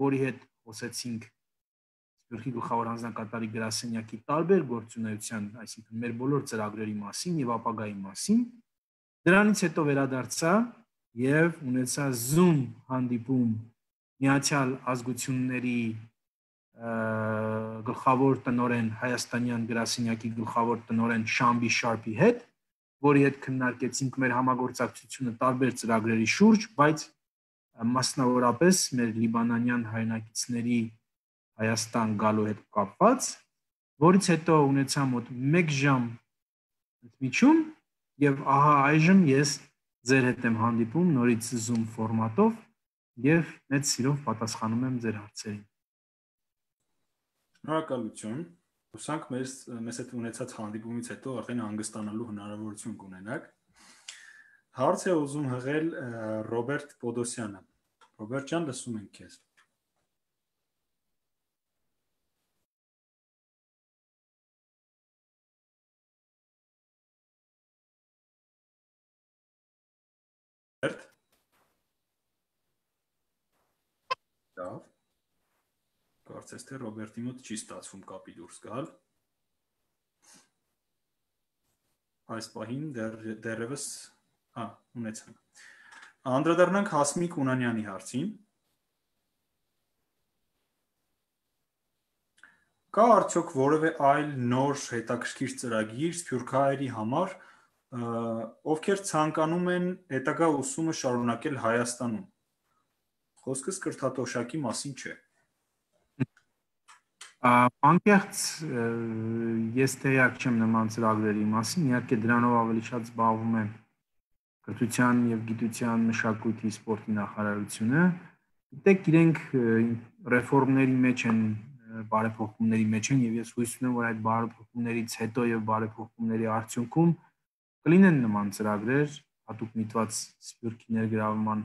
որի հետ խոսեցինք Սփյուռքի գլխավոր հանձնակատարի գրասենյակի տարբեր գործունեության, այսինքն մեր բոլոր ծրագրերի մասին եւ ապագայի մասին։ Դրանից հետո վերադարձա եւ ունեցա Zoom հանդիպում Միացյալ Ազգությունների գլխավոր տնօրեն Հայաստանյան գրասենյակի գլխավոր տնօրեն Շամբի Շարփի հետ, որի հետ քննարկեցինք մեր համագործակցությունը տարբեր ծրագրերի շուրջ, բայց մասնավորապես մեր լիբանանյան հայրենակիցների Հայաստան գալու հետ կապված, որից հետո ունեցա մոտ մեկ ժամ ընդմիջում եւ ահա այժմ ես ձեր հետ եմ հանդիպում նորից Zoom ֆորմատով եւ մեծ սիրով պատասխանում եմ ձեր հարցերին։ Շնորհակալություն։ Հուսանք մեզ մեզ հետ ունեցած հանդիպումից հետո արդեն հանգստանալու հնարավորություն կունենաք։ Հարց է ուզում հղել Ռոբերտ Պոդոսյանը։ Ռոբերտ ջան, լսում ենք քեզ։ Ռոբերտ։ Լավ։ Կարծես թե Ռոբերտի մոտ չի ստացվում կապի դուրս գալ։ Այս պահին դեռևս հա, ունեցանք։ Անդրադառնանք Հասմիկ Ունանյանի հարցին։ Կա արդյոք որևէ այլ նոր հետաքրքիր ծրագիր սփյուռքահայերի համար, ովքեր ցանկանում են հետագա ուսումը շարունակել Հայաստանում։ Խոսքս կրթատոշակի մասին չէ։ Անկեղծ ես տեղյակ չեմ նման ծրագրերի մասին, իհարկե դրանով ավելի շատ զբաղվում է կրթության եւ գիտության մշակույթի սպորտի նախարարությունը։ Գիտեք, իրենք ռեֆորմների մեջ են, բարեփոխումների մեջ են եւ ես հույս ունեմ, որ այդ բարեփոխումներից հետո եւ բարեփոխումների արդյունքում կլինեն նման ծրագրեր, հատուկ միտված սփյուռքի ներգրավման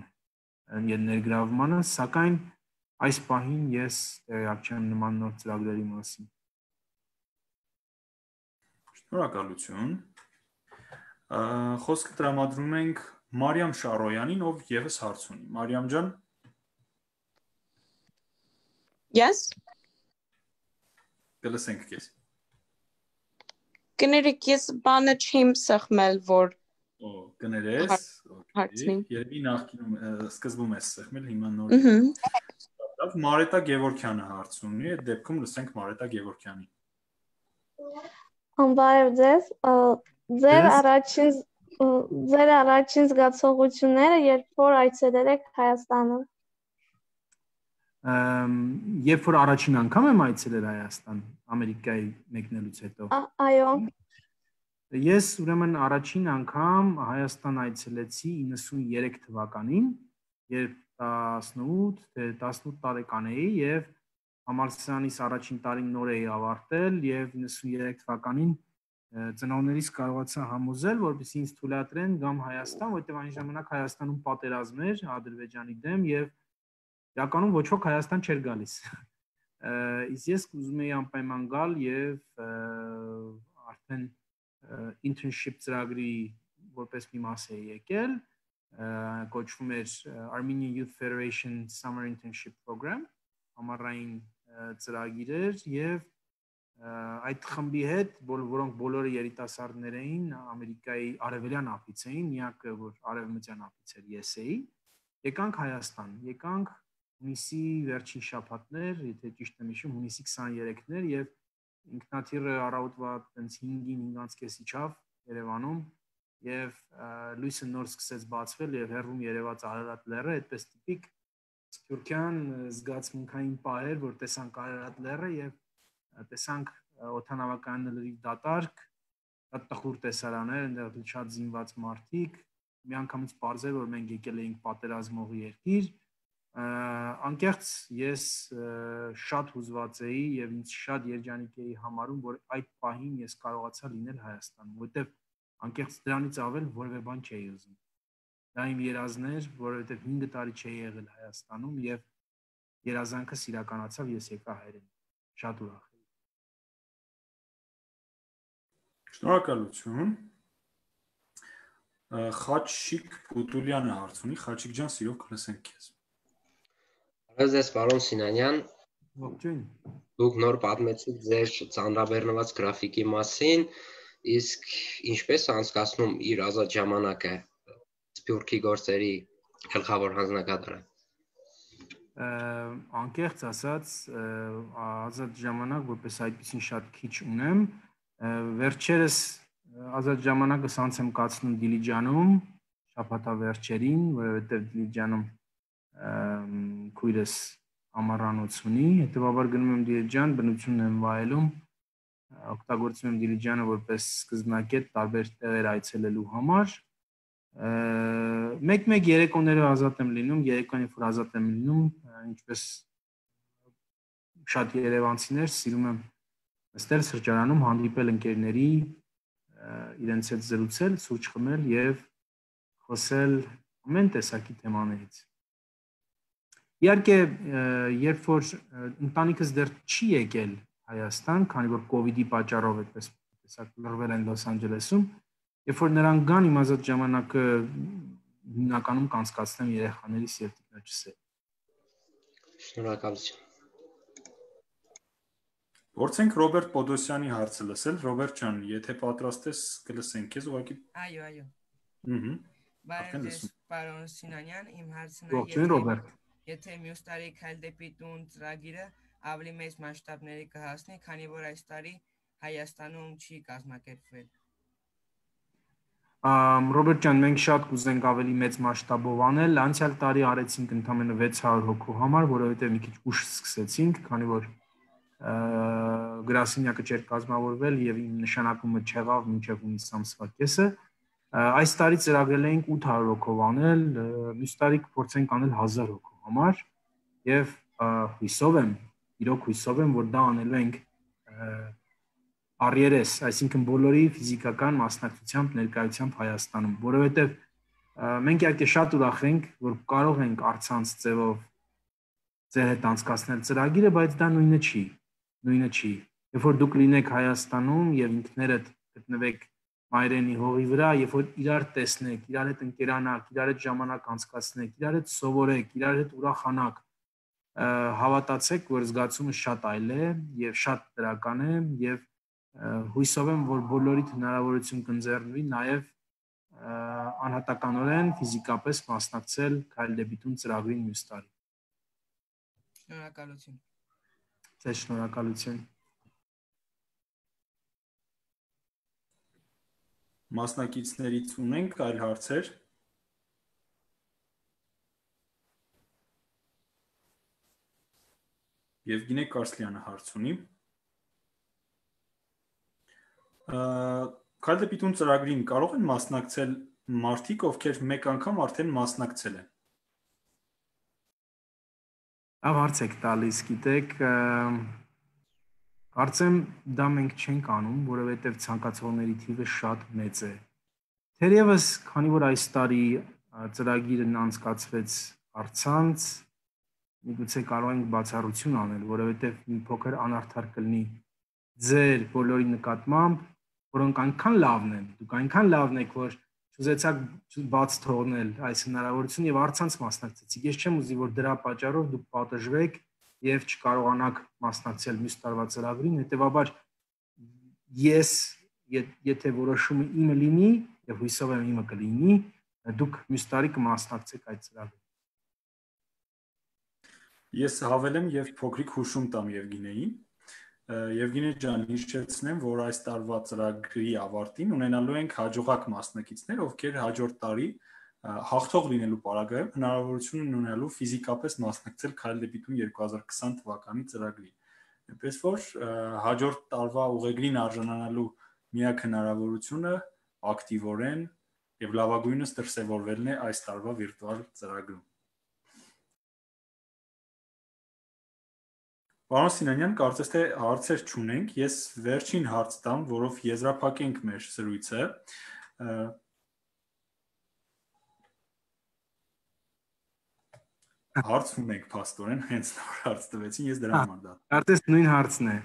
եւ ներգրավմանը, սակայն այս պահին ես տեղյակ չեմ նման նոր ծրագրերի մասին։ Շնորհակալություն։ Խոսքը տրամադրում ենք Մարիամ Շարոյանին, ով եւս հարց ունի։ Մարիամ ջան։ Yes։ Կլսենք քեզ։ Կներեք, ես բանը չեմ սխմել, որ Օ, կներես։ Հարցնի։ Երևի նախկինում սկզբում ես սխմել, հիմա նոր։ Մարետա Գևորքյանը հարց ունի, այդ դեպքում լսենք Մարետա Գևորքյանին։ Բարև ձեզ, ձեր առաջին ձեր առաջին զգացողությունները, երբ որ այցելել եք Հայաստանը։ Երբ որ առաջին անգամ եմ այցելել Հայաստան, Ամերիկայի մեկնելուց հետո։ Այո։ Ես ուրեմն առաջին անգամ Հայաստան այցելեցի իննսուներեք թվականին, երբ տասնութ, թե տասնութ տարեկան էի եւ համալսարանիս առաջին տարին նոր էի ավարտել եւ իննսուներեք թվականին ծնողներիս կարողացա համոզել, որպեսզի ինձ թույլատրեն գամ Հայաստան, որտեղ այն ժամանակ Հայաստանում պատերազմ էր Ադրբեջանի դեմ եւ իրականում ոչ ոք Հայաստան չէր գալիս։ Իսկ ես ուզում էի անպայման գալ եւ արդեն internship ծրագրի որպես մի մաս էի եկել, կոչվում էր Armenian Youth Federation Summer Internship Program, ամառային ծրագիր էր եւ այդ խմբի հետ, որոնք բոլորը երիտասարդներ էին, Ամերիկայի արևելյան ափից էին, միակը որ արևմտյան ափից էր ես էի, եկանք Հայաստան, եկանք հունիսի վերջին շաբաթներ, եթե ճիշտ եմ հիշում, հունիսի քսաներեքներ եւ ինքնաթիռը առավոտվա հինգին հինգ կես իջավ Երևանում եւ լույսը նոր սկսեց բացվել եւ հեռվում երևաց Արարատ լեռը, այդպես տիպիկ սփյուռքյան զգացմունքային պահեր, որ տեսանք Արարատ լեռը եւ տեսանք օդանավականների դատարկ, տխուր տեսարաններ, այնտեղ շատ զինված մարդիկ, միանգամից պարզեր, որ մենք եկել էինք պատերազմողի երկիր, անկեղծ ես շատ հուզված էի եւ ինձ շատ երջանիկ էի համարում, որ այդ պահին ես կարողացա լինել Հայաստանում, որտեղ անկեղծ դրանից ավել որևէ բան չէի ուզում։ Դա իմ երազն էր, որովհետև հինգ տարի չէի եղել Հայաստանում եւ երազանքս իրականացավ, ես եկա հայրենիք։ Շատ ուրախ էի։ Շնորհակալություն։ Խաչիկ Փուտուլյանը հարց ունի, Խաչիկ ջան, սիրով կլսենք քեզ։ Բարև ձեզ, պարոն Սինանյան։ Ողջույն։ Դուք նոր պատմեցիք ձեր ծանրաբեռնված գրաֆիկի մասին, իսկ ինչպես անցկացնում իր ազատ ժամանակը սփյուռքի գործերի գլխավոր հանձնակատարը։ Անկեղծ ասած, ազատ ժամանակ որպես այդպեսին շատ քիչ ունեմ, վերջերս ազատ ժամանակս անց եմ կացնում Դիլիջանում, շաբաթավերջերին, որովհետև Դիլիջանում քույրս ամառանոց ունի, հետևաբար գնում եմ Դիլիջան, բնությունն եմ վայելում, օգտագործում եմ Դիլիջանը որպես սկզբնակետ տարբեր տեղեր այցելելու համար։ Մեկ-մեկ երեկոները ազատ եմ լինում, երեկոյան երբ որ ազատ եմ լինում, ինչպես շատ երևանցիներ, սիրում եմ նստել սրճարանում, հանդիպել ընկերների, իրենց հետ զրուցել, սուրճ խմել եւ խոսել ամեն տեսակի թեմաներից։ Իհարկե, երբ որ ընտանիքս դեռ չի եկել Հայաստան, քանի որ կոവിഡ്ի պատճառով այդպես տեսակ լռվել են Լոս Անջելեսում, երբ որ նրանք գան, իմ ազատ ժամանակը հիմնականում կանցկացնեմ երեխաներիս եւ տիկնոջս հետ։ Շնորհակալություն։ Փորձենք Ռոբերտ Պոդոսյանի հարցը լսել։ Ռոբերտ ջան, եթե պատրաստ ես, կլսենք քեզ ուղղակի։ Այո, այո։ Ահա։ Բարև ձեզ, պարոն Սինանյան, իմ հարցն է, Ողջույն, Ռոբերտ։ Եթե մյուս տարի Քայլ դեպի տուն ծրագիրը ավելի մեծ մասշտաբների կհասնի, քանի որ այս տարի Հայաստանում չի կազմակերպվել։ Ռոբերտ ջան, մենք շատ կուզենք ավելի մեծ մասշտաբով անել։ Անցյալ տարի արեցինք ընդամենը վեց հարյուր հոգու համար, որովհետև մի քիչ ուշ սկսեցինք, քանի որ գրասենյակը չէր կազմավորվել եւ իմ նշանակումը չեղավ մինչեւ հունիս ամսվա կեսը։ Այս տարի ծրագրել էինք ութ հարյուր հոգով անել, մյուս տարի կփորձենք անել հազար հոգով համար եւ հույսով եմ, իրոք հույսով եմ, որ դա անելու ենք առերես, այսինքն բոլորի ֆիզիկական մասնակցությամբ ներկայությամբ Հայաստանում, որովհետեւ մենք իհարկե շատ ուրախ ենք, որ կարող ենք առցանց ձևով ձեր հետ անցկացնել ծրագիրը, բայց դա նույնը չի, նույնը չի։ Երբ որ դուք լինեք Հայաստանում եւ ինքներդ գտնվեք մայրենի հողի վրա, երբ որ իրար տեսնեք, իրար հետ ընկերանաք, իրար հետ ժամանակ անցկացնեք, իրար հետ սովորեք, իրար հետ ուրախանաք, հավատացեք, որ զգացումը շատ այլ է եւ շատ դրական է եւ հույսով եմ, որ բոլորիդ հնարավորություն կընձեռնվի նաեւ անհատականորեն ֆիզիկապես մասնակցել Քայլ դեպի տուն ծրագրին մյուս տարի։ Շնորհակալություն։ Ձեզ շնորհակալություն։ Մասնակիցներից ունենք այլ հարցեր։ Եվգենի Կարսլյանը հարց ունի։ Քայլ դեպի տուն ծրագրին կարող են մասնակցել մարդիկ, ովքեր մեկ անգամ արդեն մասնակցել են։ Ավ հարց եք տալիս, գիտեք, կարծեմ դա մենք չենք անում, որովհետև ցանկացողների թիվը շատ մեծ է։ Թերևս, քանի որ այս տարի ծրագիրն անցկացվեց առցանց, միգուցե կարող ենք բացառություն անել, որովհետև մի փոքր անարդար կլինի ձեր բոլորի նկատմամբ, որոնք այնքան լավն են, դուք այնքան լավն եք, որ չուզեցաք բաց թողնել այս հնարավորությունը եւ առցանց մասնակցեցիք։ Ես չեմ ուզի, որ դրա պատճառով դուք պատժվեք եւ չկարողանաք մասնակցել մյուս տարվա ծրագրին, հետեւաբար ես եթե որոշումը իմը լինի եւ հույսով եմ իմը կլինի, դուք մյուս տարի կմասնակցեք այդ ծրագրին։ Ես հավելեմ եւ փոքրիկ հուշում տամ Եվգենիային։ Եվգենի ջան, հիշեցնեմ, որ այս տարվա ծրագրի ավարտին ունենալու ենք հաջողակ մասնակիցներ, ովքեր հաջորդ տարի հաղթող լինելու պարագայում հնարավորություն ունենալու ֆիզիկապես մասնակցել Քայլ դեպի տուն երկու հազար քսան թվականի ծրագրին։ Այնպես որ հաջորդ տարվա ուղեգրին արժանանալու միակ հնարավորությունը ակտիվորեն եւ լավագույնս դրսեւորվելն է այս տարվա վիրտուալ ծրագրում։ Պարոն Սինանյան, կարծես թե հարցեր չունենք, ես վերջին հարց տամ, որով եզրափակենք մեր զրույցը։ Հարց ունենք, փաստորեն, հենց նոր հարց տվեցին, ես դրա համար դա։ Կարծես նույն հարցն է։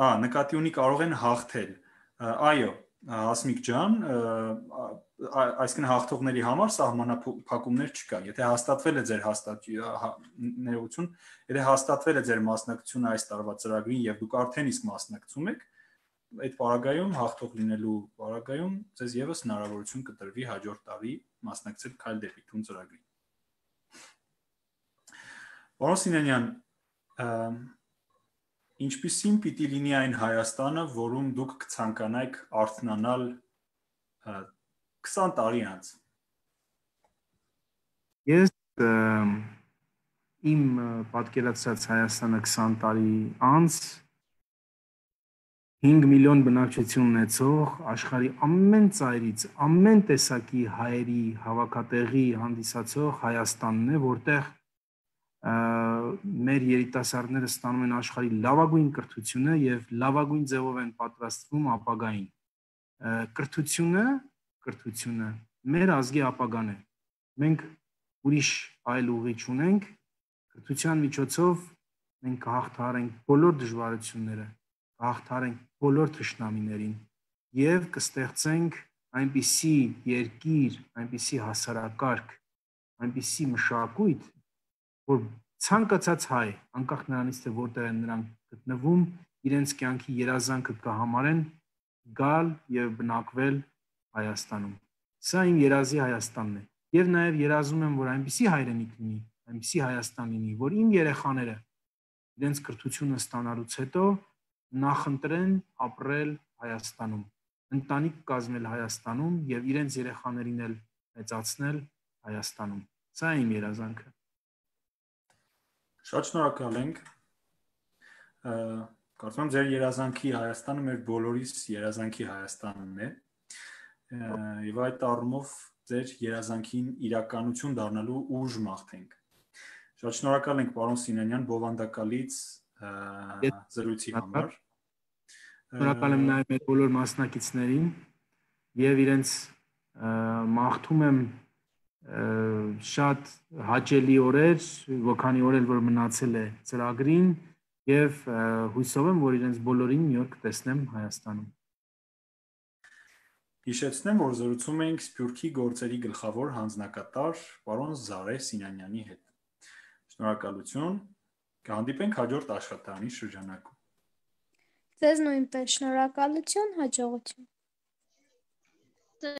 Ա, նկատի ունի կարող են հաղթել։ Այո, Հասմիկ ջան, այսինքն հաղթողների համար սահմանափակումներ չկա։ Եթե հաստատվել է ձեր հաստատություն, եթե հաստատվել է ձեր մասնակցությունը այս տարվա ծրագրին եւ դուք արդեն իսկ մասնակցում եք, այդ պարագայում հաղթող լինելու պարագայում ձեզ եւս հնարավորություն կտրվի հաջորդ տարի մասնակցել Քայլ դեպի տուն ծրագրին։ Պարոն Սինանյան, ինչպիսին պիտի լինի այն Հայաստանը, որում դուք կցանկանայիք արթնանալ քսան տարի անց։ Ես իմ պատկերացած Հայաստանը քսան տարի անց հինգ միլիոն բնակչություն ունեցող աշխարհի ամեն ծայրից, ամեն տեսակի հայերի հավաքատեղի հանդիսացող Հայաստանն է, որտեղ մեր երիտասարդները ստանում են աշխարհի լավագույն կրթությունը եւ լավագույն ձևով են պատրաստվում ապագային։ Կրթությունը, կրթությունը մեր ազգի ապագան է։ Մենք ուրիշ այլ ուղի չունենք, կրթության միջոցով մենք կհաղթահարենք բոլոր դժվարությունները, կհաղթահարենք բոլոր թշնամիներին եւ կստեղծենք այնպիսի երկիր, այնպիսի հասարակարգ, այնպիսի մշակույթ, որ ցանկացած հայ, անկախ նրանից թե որտեղ են նրանք գտնվում, իրենց կյանքի երազանքը կհամարեն գալ եւ բնակվել Հայաստանում։ Սա իմ երազի Հայաստանն է։ Եվ նաեւ երազում եմ, որ այնպիսի հայրենիք լինի, այնպիսի Հայաստան լինի, որ իմ երեխաները իրենց կրթությունը ստանալուց հետո նախընտրեն ապրել Հայաստանում, ընտանիք կազմել Հայաստանում եւ իրենց երեխաներին էլ մեծացնել Հայաստանում։ Սա իմ երազանքը։ Շատ շնորհակալ ենք։ Կարծում եմ ձեր երազանքի Հայաստանը մեր բոլորիս երազանքի Հայաստանն է։ Եվ այդ առումով ձեր երազանքին իրականություն դառնալու ուժ մաղթենք։ Շատ շնորհակալ ենք պարոն Սինանյան բովանդակալից զրույցի համար։ Շնորհակալ եմ նաև մեր բոլոր մասնակիցներին եւ իրենց մաղթում եմ շատ հաճելի օրեր, որքանի օր էլ որ մնացել է ծրագրին եւ հույսով եմ, որ իրենց բոլորին մի օր կտեսնեմ Հայաստանում։ Հիշեցնեմ, որ զրուցում էինք Սփյուռքի գործերի գլխավոր հանձնակատար պարոն Զարե Սինանյանի հետ։ Շնորհակալություն, կհանդիպենք հաջորդ աշխատանի շրջանակում։ Ձեզ նույնպես շնորհակալություն, հաջողություն։